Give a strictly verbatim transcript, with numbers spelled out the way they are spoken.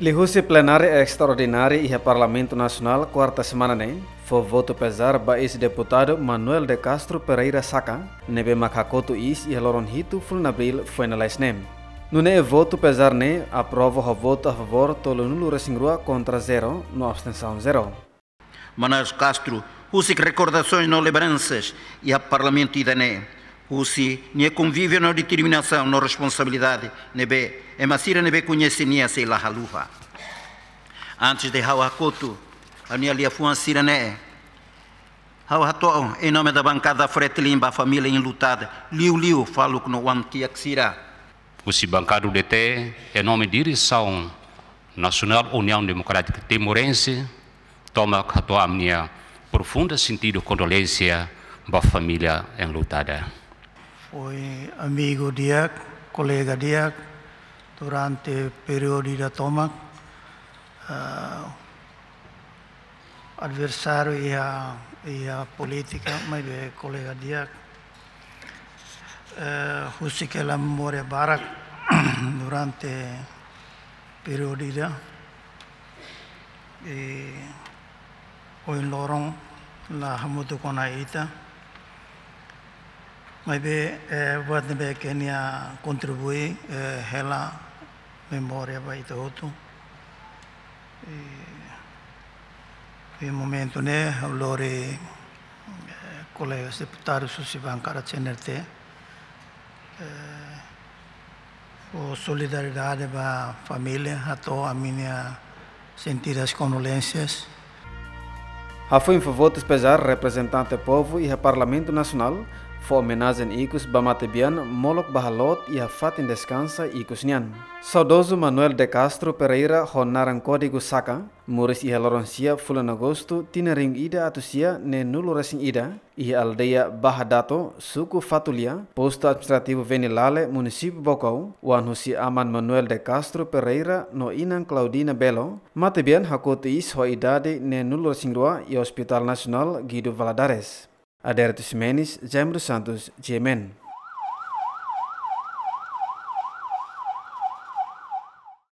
Liuhusi plenária estraordinária iha Parlamentu Nasionál kuarta semana ne'e, fó votu pezár ba eis-deputadu Manuel de Castro Pereira Saka, ne'ebé mak hakotu iis iha loron hitu fulan Abríl foin lalais ne'e. Nune'e votu pezár ne'e aprova ho votu a favór tolunulu-resin-rua kontra zero no abstensaun zero. Manuel Castro, husik rekordasoens no lebransas iha Parlamentu ida-ne'e, husi nia konvíviu no determinasaun no responsabilidade ne'ebé ema sira ne'ebé koñese nia sei la haluha. Antes de ha'u hakotu ha'u-nia liafuan sira-ne'e, ha'u hato'o em nome da bancada Fretilin ba família enlutada, liuliu faluk no oan-kiak sira. Husi bankada U D T, em nome diresaun nasionál Uniaun Demokrátika Timorense, tomak hato'o ami-nia profunda sentidu kondolénsia ba família enlutada. Foin amigu di'ak, kolega di'ak, durante períodu ida tomak, ah, adversáriu iha, iha polítika, maibé kolega di'ak. Eh, husik hela memória barak durante períodu ida. I ohin loron la hamutuk ona ita. Maibé, eh, buat ne'ebé ke nia kontribui, eh, hela memória ba ita hotu. I, i momentu ne'e, ha'u lori, eh, kolega deputadu husi bankada C N R T, eh, fó solidariedade ba família, hato'o ami-nia sentidas kondolénsias. Hafoin fó votus pezár, reprezentante povu iha Parlamentu Nasionál fó omenajen ikus ba matebian molok bá haloot iha fatin deskansa ikus nian. Saudozu Manuel de Castro Pereira ho naran kódigu Saka, moris iha loron sia fulan Agostu tinan rihun ida atus sia neenulu-resin-ida, iha aldeia Baha Dato, suku Fatulia, postu administrativu Venilale, munisípiu Baucau, oan husi aman Manuel de Castro Pereira no inan Claudina Belo, matebian hakotu iis ho idade neenulu-resin-rua iha Hospital Nasionál Guido Valadares. Adérito Ximenes, Jaime dos Santos, G M N.